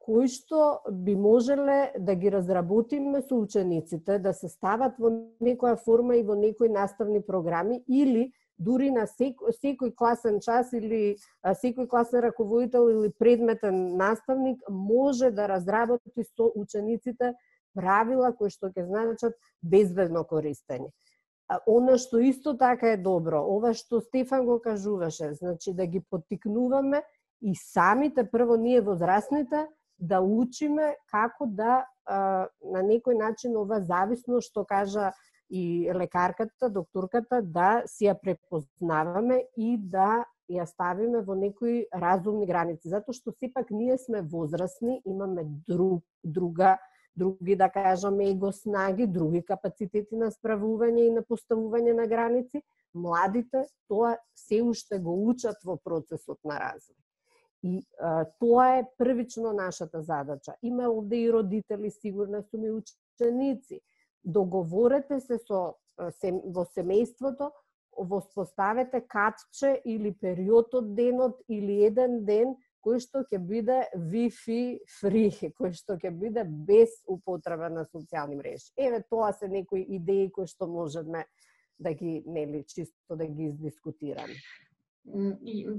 [SPEAKER 3] кои што би можеле да ги разработиме со учениците, да се стават во некоја форма и во некои наставни програми, или дури на секој класен час или секој класен раководител или предметен наставник може да разработи со учениците правила кои што ќе значат безбедно користење. Она што исто така е добро, ова што Стефан го кажуваше, значи да ги поттикнуваме и самите, прво ние возрастните, да учиме како да на некој начин ова зависност, што кажа и лекарката, докторката, да си ја препознаваме и да ја ставиме во некои разумни граници. Затоа што сепак ние сме возрастни, имаме други, да кажаме, его снаги, други капацитети на справување и на поставување на граници. Младите тоа се уште го учат во процесот на развој. И тоа е првично нашата задача. Има овде и родители, сигурно сум и ученици. Договорете се во семејството, воспоставете катче или период од денот или еден ден кој што ќе биде Wi-Fi free, кој што ќе биде без употреба на социјални мрежи. Еве, тоа се некои идеи кои што можеме да ги, нели, чисто да ги издискутираме.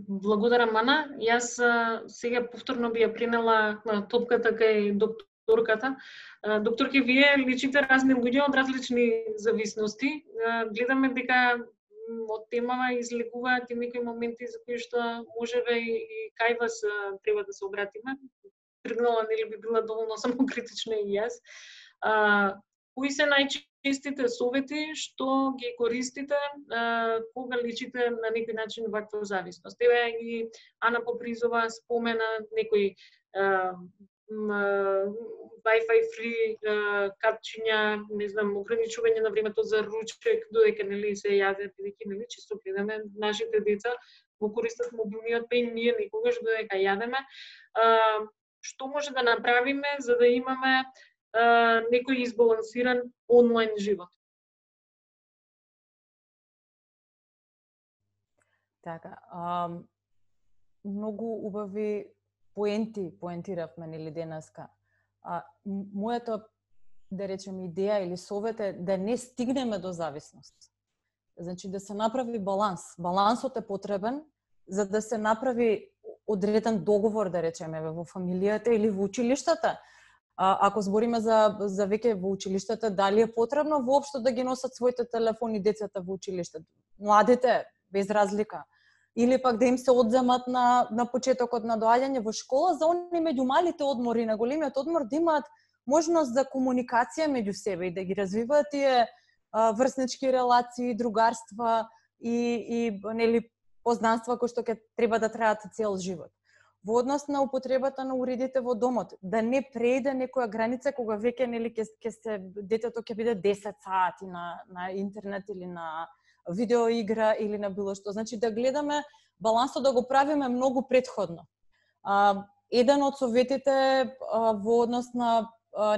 [SPEAKER 1] Благодарам, Ана. Јас сега повторно би ја принела топката кај докторката. Докторке, вие личите разни луѓе од различни зависности. Гледаме дека од темава излегуваат и некои моменти за кои што можеби и кај вас треба да се обратиме. Тргнала, нели би била доволно самокритична и јас. Кои се најчестите совети што ги користите кога личите на некој начин ваква зависност? Еве и Ана Попризова спомена некои Wi-Fi free капчиња, не знам, ограничување на времето за ручек, додека нели се јадат, бидејќи нели често гледаме нашите деца го користат мобилниот пеј, ние никогаш додека јадеме. Што може да направиме за да имаме некој избалансиран онлайн живот?
[SPEAKER 5] Така, многу убави поентиравме нели денеска. Мојата, да речем, идеја или совет е да не стигнеме до зависност. Значи да се направи баланс. Балансот е потребен за да се направи одреден договор, да речеме, во фамилијата или во училиштата. Ако збориме за веќе во училиштата, дали е потребно воопшто да ги носат своите телефони децата во училиште? Младите, без разлика. Или пак да им се одземат на почетокот на доаѓање во школа, за они меѓу малите одмори, на големиот одмор, да имаат можност за комуникација меѓу себе и да ги развиваат тие врснички релации, другарства и нели познанства кои што ќе треба да траат цел живот. Во однос на употребата на уредите во домот, да не преиде некоја граница кога веќе нели ќе се детето ќе биде 10 сати на интернет или на видеоигра или на било што. Значи да гледаме балансот, да го правиме многу претходно. Еден од советите во однос на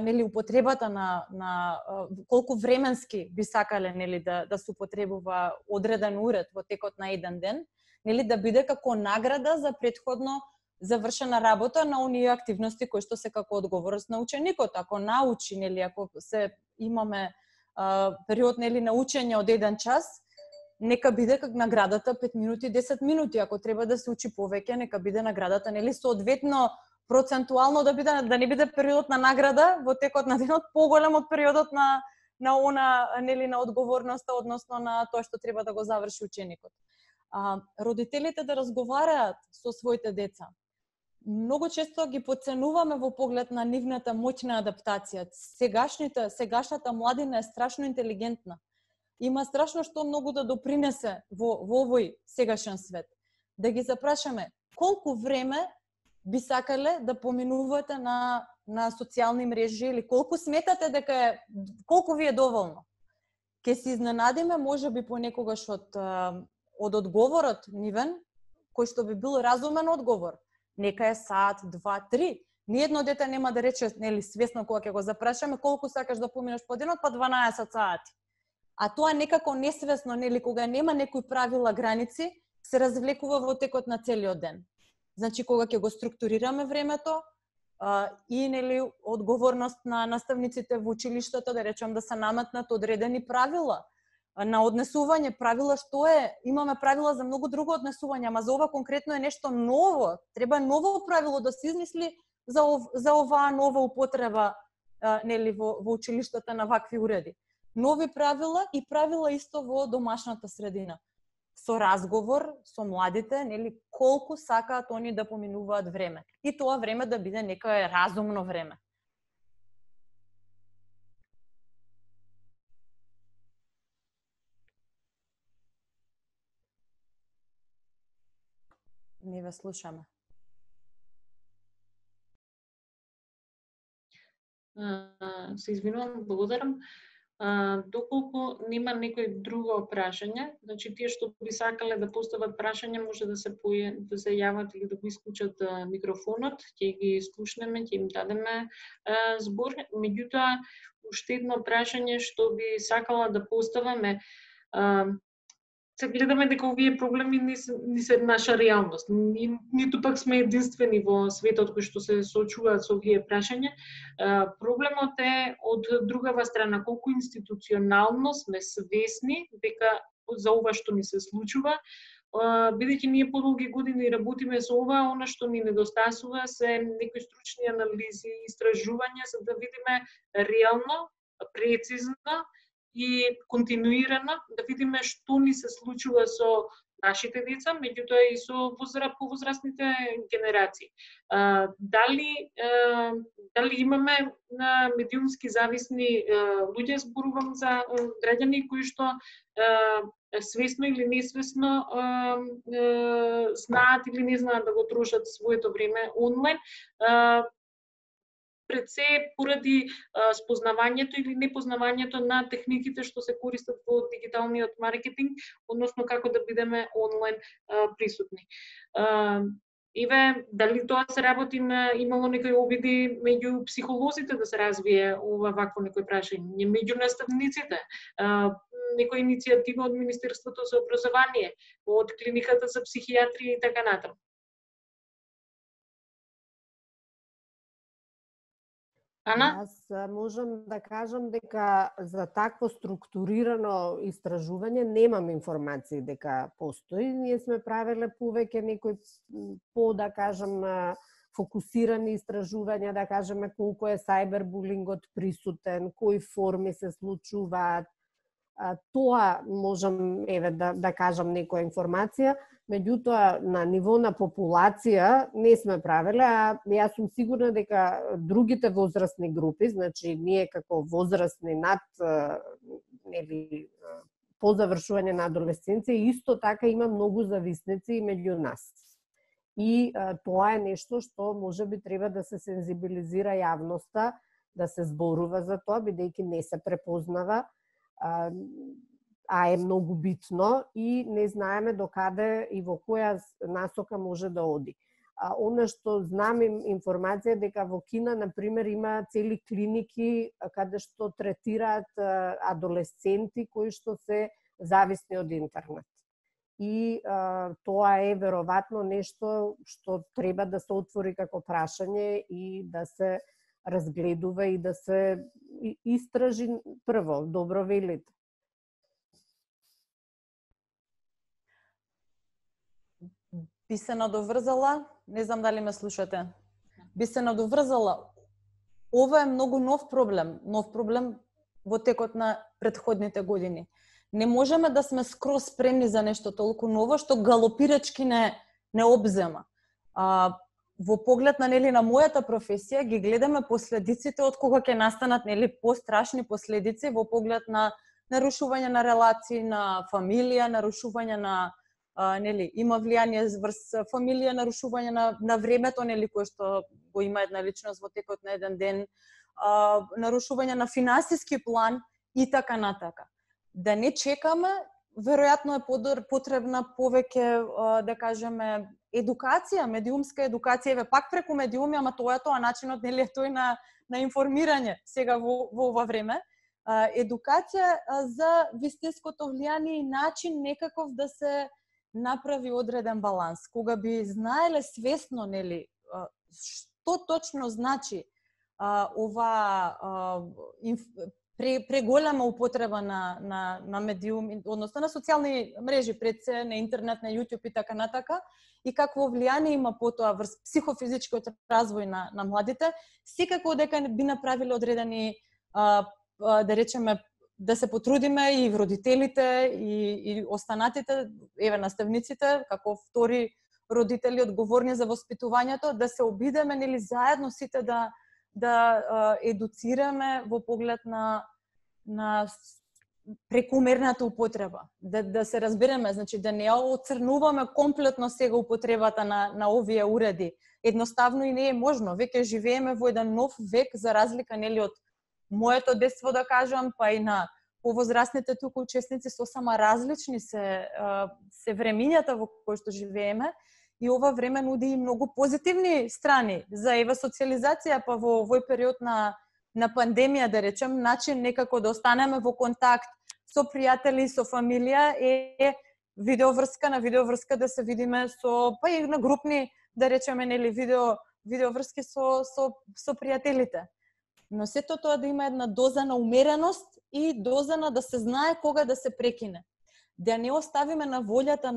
[SPEAKER 5] нели употребата на колку временски би сакале нели да се употребува одреден уред во текот на еден ден, нели да биде како награда за претходно завршена работа на оние активности кои што се како одговорност на ученикот. Ако научи, нели, ако се имаме период нели на учење од 1 час, нека биде как наградата 5 минути, 10 минути. Ако треба да се учи повеќе, нека биде наградата нели соодветно процентуално да не биде периодот на награда во текот на денот поголем од периодот на она нели на одговорноста, односно на тоа што треба да го заврши ученикот. Родителите да разговараат со своите деца. Многу често ги потценуваме во поглед на нивната моќна адаптација. Сегашната младина е страшно интелигентна. Има страшно што многу да допринесе во овој сегашен свет. Да ги запрашаме колку време би сакале да поминувате на социјални мрежи или колку сметате дека колку ви е доволно. Ке се изненадиме можеби понекогаш од одговорот нивен, кој што би бил разумен одговор. Нека е сат, 2, 3. Ниедно дете нема да рече, нели, свесно кога ќе го запрашаме колку сакаш да поминеш по денот, па 12 сати. А тоа некако несвесно, нели, кога нема некои правила, граници, се развлекува во текот на целиот ден. Значи, кога ќе го структурираме времето и, нели, одговорност на наставниците во училиштата, да речем, да се наметнат одредени правила на однесување, правила што е, имаме правила за многу друго однесување, ама за ова конкретно е нешто ново, треба ново правило да се измисли за оваа нова употреба нели во училиштата на вакви уреди. Нови правила и правила исто во домашната средина. Со разговор со младите, нели, колку сакаат они да поминуваат време. И тоа време да биде некое разумно време. Не ве слушаме.
[SPEAKER 1] Се извинувам, благодарам. Доколку нема некој друго прашање, значи тие што би сакале да постават прашање може да се јават или да го исклучат микрофонот, ќе ги слушнеме, ќе им дадеме збор. Меѓутоа, уште едно прашање што би сакала да поставам е се гледаме дека овие проблеми не се наша реалност. Ниту пак сме единствени во светот кои што се соочуваат со овие прашања. Проблемот е од другава страна, колку институционално сме свесни дека за ова што ни се случува, бидејќи ние подолги години работиме со ова, она што ни недостасува се некои стручни анализи, истражувања за да видиме реално, прецизно и континуирано да видиме што ни се случува со нашите деца, меѓутоа и со повозрастните генерации. Дали имаме медиумски зависни луѓе, зборувам за граѓани кои што свесно или несвесно знаат или не знаат да го трошат своето време онлайн, пред се поради спознавањето или непознавањето на техниките што се користат во дигиталниот маркетинг, односно како да бидеме онлайн присутни. Дали тоа се работи имало некои обиди меѓу психолозите да се развие вакво некој прашање, меѓу наставниците, некоја иницијатива од Министерството за образование, од клиниката за психијатрија и така натаму. Ана?
[SPEAKER 3] Јас можам да кажам дека за такво структурирано истражување немам информации дека постои. Ние сме правеле повеќе некои да кажам, фокусирани истражувања, да кажеме колку е сајбербулингот присутен, кои форми се случуваат. Тоа можам да кажам некоја информација, меѓутоа на ниво на популација не сме правеле, а јас сум сигурна дека другите возрастни групи, значи ние како возрастни над по завршување на адолесценција, исто така има многу зависници меѓу нас. И тоа е нешто што можеби треба да се сензибилизира јавноста, да се зборува за тоа, бидејќи не се препознава, а е многу битно и не знаеме докаде и во која насока може да оди. Она што знам информација дека во Кина, например, има цели клиники каде што третираат адолесценти кои што се зависни од интернет. И тоа е веројатно нешто што треба да се отвори како прашање и да се разгледува и да се истражи прво, добро велите.
[SPEAKER 5] Би се надоврзала, не знам дали ме слушате, би се надоврзала, ова е многу нов проблем во текот на претходните години. Не можеме да сме скроз спремни за нешто толку ново, што галопирачки не обзема. Во поглед на на мојата професија ги гледаме последиците од кога ќе настанат пострашни последици во поглед на нарушување на релации, на фамилија, нарушување на има влијание врз фамилија, нарушување на времето кое што го има една личност во текот на еден ден, нарушување на финансиски план и така натака. Да не чекаме, веројатно е потребна повеќе, да кажеме, едукација, медиумска едукација, пак преку медиуми, ама тоа начинот е тој на информирање сега во ова време. Едукација за вистинското влијание и начин некаков да се направи одреден баланс, кога би знаеле свесно, што точно значи ова преголема употреба на медиум, односно на социјални мрежи, пред се на интернет, на YouTube и така натака, и какво влијание има потоа врз психофизичкиот развој на младите, секако дека би направиле одредени, да речеме, да се потрудиме и родителите и останатите, наставниците, како втори родители одговорни за воспитувањето, да се обидеме заедно сите да едуцираме во поглед на прекумерната употреба. Да се разбереме, значи да не оцрнуваме комплетно сега употребата на овие уреди. Едноставно и не е можно. Веќе живееме во еден нов век, за разлика од моето детство, да кажам, па и на повозрастните туку учесници, сосема различни се времињата во кои што живееме, и ова време нуди и многу позитивни страни за социализација, па во овој период на пандемија, да речем, начин некако да останеме во контакт со пријатели, со фамилија, е видеоврска да се видиме со, па и на групни, да речеме, нели, видеоврски со пријателите. Но сето тоа да има една доза на умереност и доза на да се знае кога да се прекине. Да не оставиме на волјата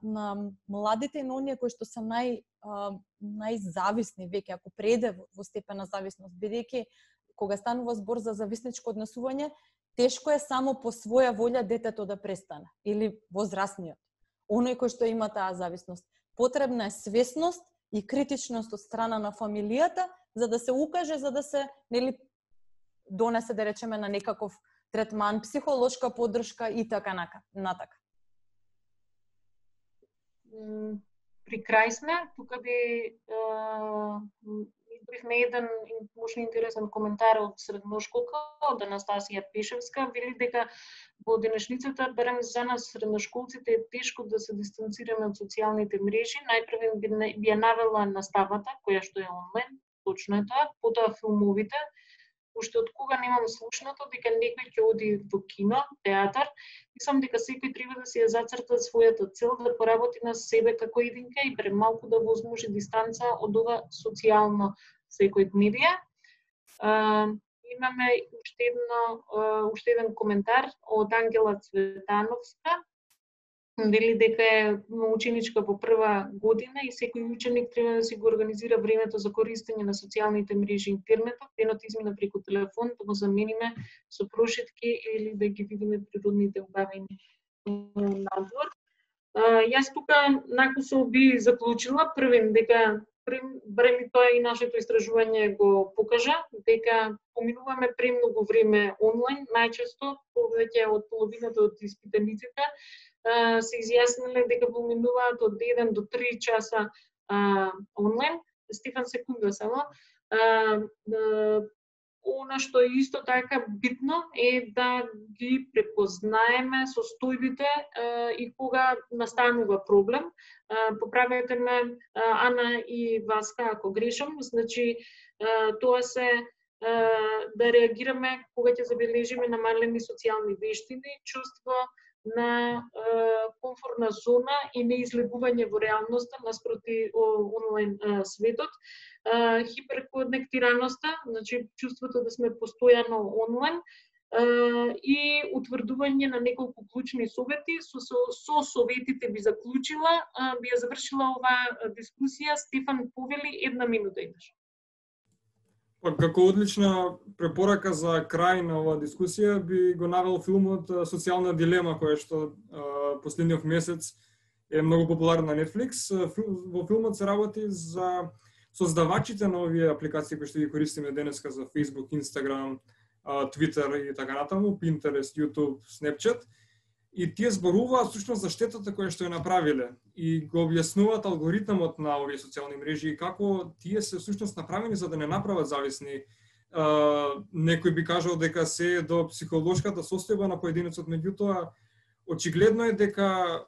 [SPEAKER 5] на младите и на оние кои што се најзависни веќе, ако преде во степен на зависност, бидејќи кога станува збор за зависничко однесување, тешко е само по своја волја детето да престане или возрастниот. Оној кој што има таа зависност. Потребна е свесност и критичност од страна на фамилијата за да се укаже, за да се, нели, донесе, да речеме, на некаков третман, психолошка поддршка и така натака.
[SPEAKER 1] При крај сме, тука би избрихме еден можно интересен коментар од средношколка, од Анастасија Пешевска, вели дека во денешницата, барем за нас средношколците, е тешко да се дистанцираме од социјалните мрежи. Најпрв би ја навела наставата, која што е онлайн, точно е тоа, потоа филмовите. Уште од кога немам слушнато дека некој ќе оди во кино, театар, мислам дека секој треба да си ја зацрта својата цел, да поработи на себе како единка и премалку да возможи дистанца од ова социјално секој медија. Имаме уште еден коментар од Ангела Цветановска. Вели дека е ученичка во прва година и секој ученик треба да си го организира времето за користење на социјалните мрежи и интернетот, денот измина преку телефон, да го замениме со прошетки или да ги видиме природните убавини надвор. Јас тука накусо би заклучила првен дека барем тоа и нашето истражување го покажа, дека поминуваме премногу време онлайн, најчесто повеќе од половината од испитаниците се изјасниле дека поминуваат од 1 до 3 часа онлайн. Стефан, секунда само. Она што е исто така битно е да ги препознаеме состојбите и кога настанува проблем. Поправете ме, Ана и Васка, ако грешам. Значи, тоа се да реагираме кога ќе забележиме намалени социјални вештини, чувство на комфортна зона и неизлегување во реалноста наспроти онлайн светот, хиперконектираноста, значи чувството да сме постојано онлайн и утврдување на неколку клучни совети. Со советите би заклучила, би ја завршила оваа дискусија. Стефан, повели, 1 минута имаш.
[SPEAKER 4] Како одлична препорака за крај на оваа дискусија би го навел филмот Социјална дилема, која што последниот месец е многу популарен на Netflix. Во филмот се работи за создавачите на овие апликации кои што ги користиме денеска за Facebook, Instagram, Twitter и така натаму, Pinterest, YouTube, Snapchat. И тие зборуваат всушност за штетата која што ја направиле и го објаснуваат алгоритмот на овие социјални мрежи и како тие се всушност направени за да не направат зависни. Некој би кажал дека се до психолошката состојба на поединецот, меѓутоа очигледно е дека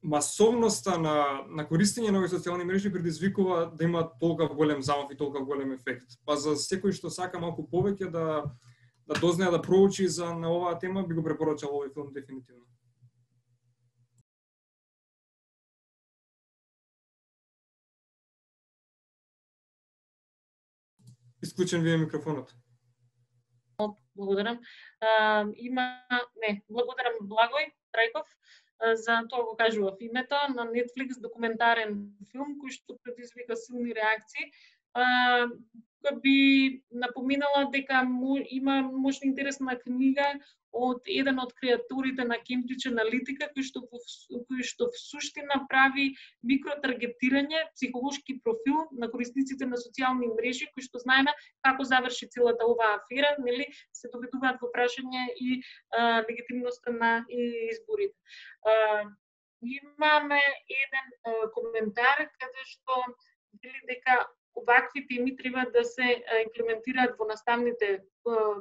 [SPEAKER 4] масовноста на користење на овие социјални мрежи предизвикува да има толку голем замав и толку голем ефект. Па за секој што сака малку повеќе да дознае, да проучи на оваа тема, би го препорачал овој филм дефинитивно. Исклучен ви е микрофонот.
[SPEAKER 1] Благодарам. Благодарам Благој Трајков за тоа го кажува в името на Netflix документарен филм кој што предизвика силни реакции. Би напоминала дека има можна интересна книга од еден од креаторите на Cambridge Analytica, кој што в суштина прави микротаргетирање, психолошки профил на корисниците на социјални мрежи, кои што знаеме како заврши целата оваа афера, нели, се доведуваат во прашање и легитимноста на изборите. Имаме еден коментар каде што вели дека овакви теми треба да се имплементираат во наставните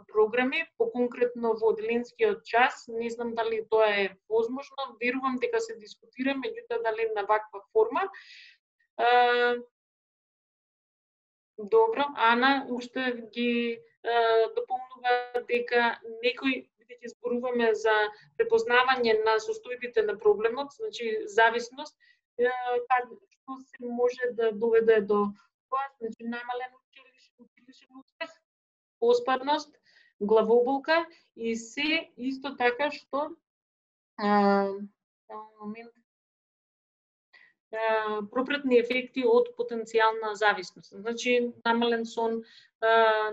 [SPEAKER 1] програми, поконкретно во одделенскиот час. Не знам дали тоа е возможно, верувам дека се дискутира, меѓутоа дали на ваква форма. Добро, Ана уште ги дополнува дека некој ќе ќе зборуваме за препознавање на состојбите на проблемот, значи зависност, што се може да доведе до тоа, значи намален училишен успех, поспарност, главоболка и се исто така што пропретни ефекти од потенцијална зависност. Значи намален сон,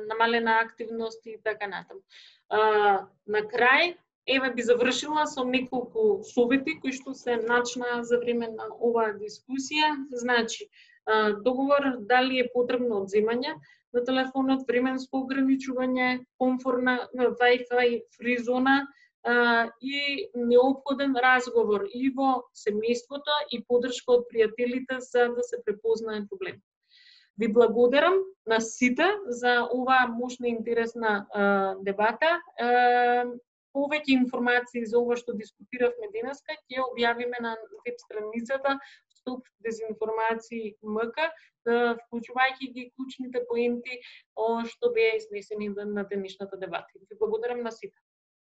[SPEAKER 1] намалена активност и така натаму. На крај, еве би завршила со неколку совети кои што се начна за време на оваа дискусија. Значи, договор дали е потребно одземање на телефонот, временско ограничување, комфортна Wi-Fi фри зона и неопходен разговор и во семејството и поддршка од пријателите за да се препознае проблем. Ви благодарам на сите за оваа мощна и интересна дебата. Повеќе информации за ова што дискутиравме денеска ќе објавиме на веб страницата Стоп дезинформации МК, вклучувајќи ги клучните поенти што беа изнесени на денешната дебата. Ви благодарам на сите.